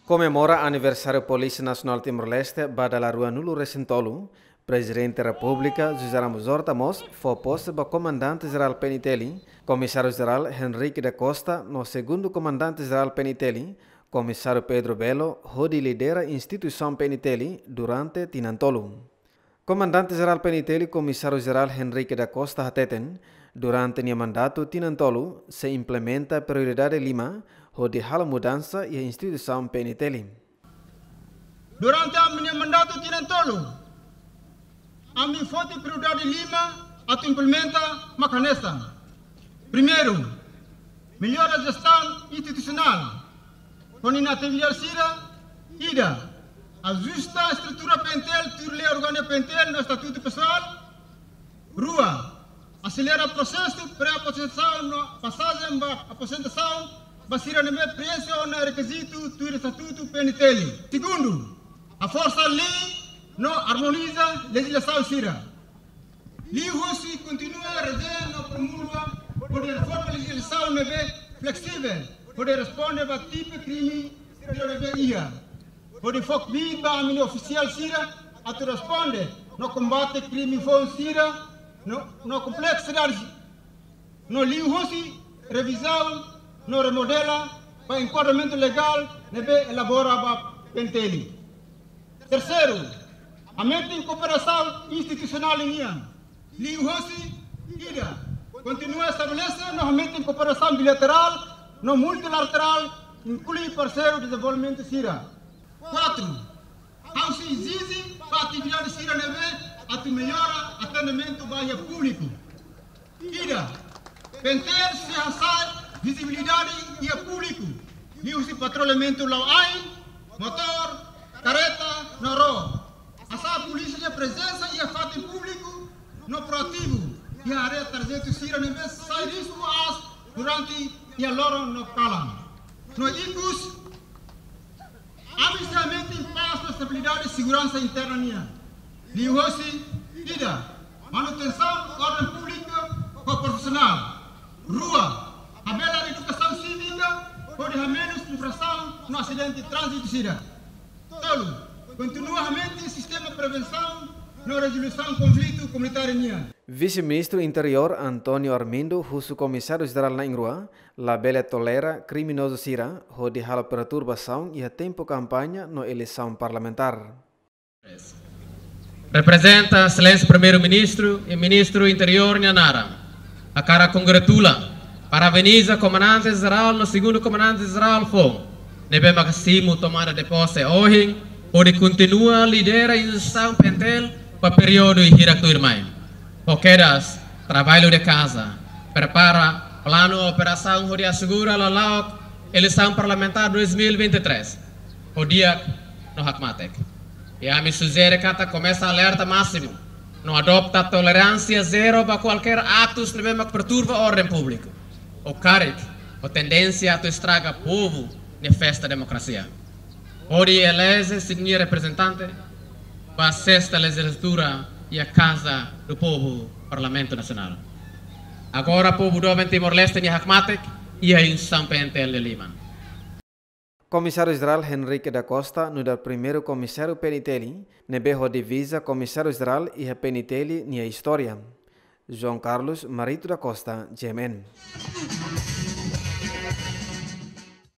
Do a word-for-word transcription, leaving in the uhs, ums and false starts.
Komemora aniversáriu Polísia Nasionál Timor-Leste ba dala ruanulu-resin-tolu, Prezidente Repúblika José Ramos Horta mós fó pose ba Komandante Jerál P N T L, Komisáriu Jerál Henrique da Costa, no Segundu Komandante Jerál P N T L, Komisáriu Pedro Belo, hodi lidera instituisaun P N T L durante tinan tolu. Komandante Jerál P N T L, Komisáriu Jerál Henrique da Costa hateten, durante nia mandatu tinan tolu, sei implementa prioridade lima, hodi halo mudansa iha instituisaun P N T L. Durante ami-nia mandatu tinan tolu, ami foti prioridade lima atu implementa mak hanesan. Primeiru, mellora jestaun institusionál. Ho ninia atividade sira, ida, ajusta estrutura P N T L, tuir lei orgánика P N T L no estatutu pesoál. Rua, aselera prosesu pré-aposentasaun no pasajen ba aposentasaun ba sira ne'ebé preenxe ona rekizitu tuir estatutu P N T L. Segundu, haforsa lei no armoniza lejizlasaun sira. Liuhosi kontinua redezeña no promulga hodi reforma lejizlasaun ne'ebé fleksivel hodi responde ba tipu krime sira ne'ebé iha. Hodi fó kbiit ba ami-nia ofisiál sira atu responde no kombate krime foun sira no, no kompleksidade, no liuhosi revizaun no remodela ba enkuadramentu legál ne'ebé elabora ba P N T L. Terseiru, aumenta kooperasaun institusionál nian. Liuhosi, ida, kontinua estabelese no aumenta kooperasaun bilaterál no multilaterál, inklui parseiru dezenvolvimentu sira. Kuatru, ha'u sei ezije ba atividade sira ne'ebé atu mellora atendimentu ba iha públiku. Ida, P N T L sei hasa'e vizibilidade iha públiku, liuhusi patrullamentu la'o-ain, motór, karreta, no ró. Hasa'e polísia nia prezensa iha fatin públiku no proativu iha área tarjetu sira ne'ebé sai risku aas durante iha loron no kalan. No ikus, ami sei aumenta pás no estabilidade seguransa interna nian. Liuhosi, ida, manutensaun orden públika ho profisionál. Rua, habelar edukasaun sívika hodi hamenus infrasaun no asidente tránzitu sira. Tolu, kontinua aumenta sistema prevensaun no rezolusaun konflitu komunitáriu nian. Vise-Ministru Interiór António Armindo husu Komisáriu Jerál na'in-rua labele tolera kriminozu sira hodi halo perturbasaun iha tempu kampaña no eleisaun parlamentár. Reprezenta Exelénsia Primeiru-Ministru i Ministru Interiór nia naran, hakarak kongratula, parabeniza Komandante Jerál no Segundu Komandante Jerál foun ne'ebé mak simu tomada de pose ohin, hodi kontinua lidera instituisaun P N T L ba períodu hirak tuirmai. Ho kedas, traballu de kaza, prepara planu operasaun hodi asegura lala'ok eleisaun parlamentár dois mil e vinte e três ho di'ak no hakmatek. I ami sujere katak komesa alerta másimu no adota toleránsia zero ba kualkér atus ne'ebé mak perturba orden públiku, ou karik ho tendénsia atu estraga povu nia festa demokrasia. Hodi eleje sira-nia reprezentante ba sesta lejizlatura iha Casa do Povo, Parlamentu Nasionál. Agora povu doben Timor-Leste nia hakmatek iha instituisaun P N T L nia liman. Komisáriu Jerál Henrique da Costa nu'udar primeiru Komisáriu P N T L, ne'ebé ho divisa Komisáriu Jerál iha P N T L nia istória. João Carlos Marito da Costa, G M N.